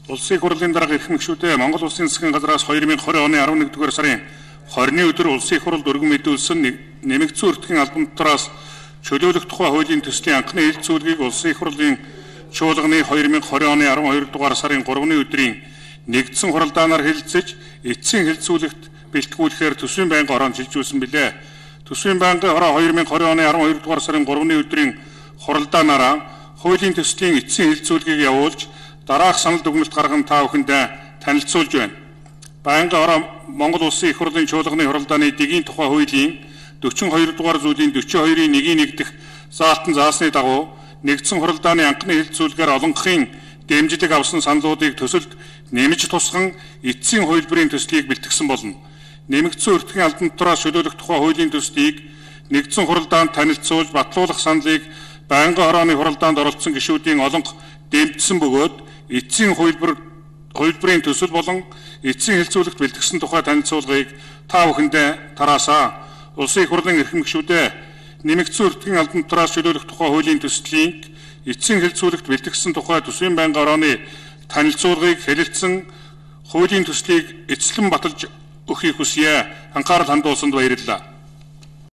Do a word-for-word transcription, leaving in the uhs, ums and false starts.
Улсын хурлын дарга эрхэм гишүүдээ Монгол Улсын засгийн газраас две тысячи двадцать оны elevenduгаар сарын двадцатны өдөр улсын хуралд өргөн мэдүүлсэн нэмэгдсэн өртгийн албан дотроос чөлөөлөх тухай хуулийн төслийн анхны хэлэлцүүлгийг улсын хурлын чуулганы две тысячи двадцать оны twelve-р сарын three-ны өдрийн нэгдсэн хуралдаанаар хэлэлцэж эцсийн хэлэлцүүлэгт бэлтгүүлэхээр төсвийн байнгын хороонд шилжүүлсэн билээ. Төсвийн байнгын хороо две тысячи двадцать оны twelve-р сарын three-ны өдрийн хуралдаанаараа хуулийн төслийн эцсийн хэлэлцүүлгийг явуулж дараах санал дүгнэлт гарган та бүхэндээ танилцуулж байна. Байнгын хороо Монгол Улсын их хурлын чуулганы хуралдааны дэгийн тухай хуулийн forty-two дугаар зүйлийн forty-two-ийн one нэгдэх заалтан заасны дагуу нэгдсэн хуралдааны анхны хэлэлцүүлгээр олонхын дэмжлэг авсан саналуудыг төсөлд нэмж тусган эцсийн хувилбарын төслийг бэлтгэсэн болно. Нэмэгдсэн өртгийн албан дотроос чөлөөлөх тухай хуулийн төслийг нэгдсэн хуралдаанд танилцуулж батлуулах саналыг байнгын хорооны хуралдаанд оролцсон гишүүдийн олонх дэмжсэн бөгөөд эцсийн хувилбар хувилбарын төсөл болон эцсийн хэлэлцүүлэгт бэлтгэсэн тухай танилцуулгыг та бүхэндээ тараасаа. Улсын их хурлын эрхэм гишүүдээ нэмэгдсэн өртгийн албан дотроос чөлөөлөх тухай хуулийн төслийг эцсийн хэлэлцүүлэгт бэлтгэсэн тухай төсвийн байнгын хорооны танилцуулгыг хэлэлцсэн хуулийн төслийг эцэслэн баталж өгөхийг хүсье. Анхаарал хандуулсанд баярлалаа.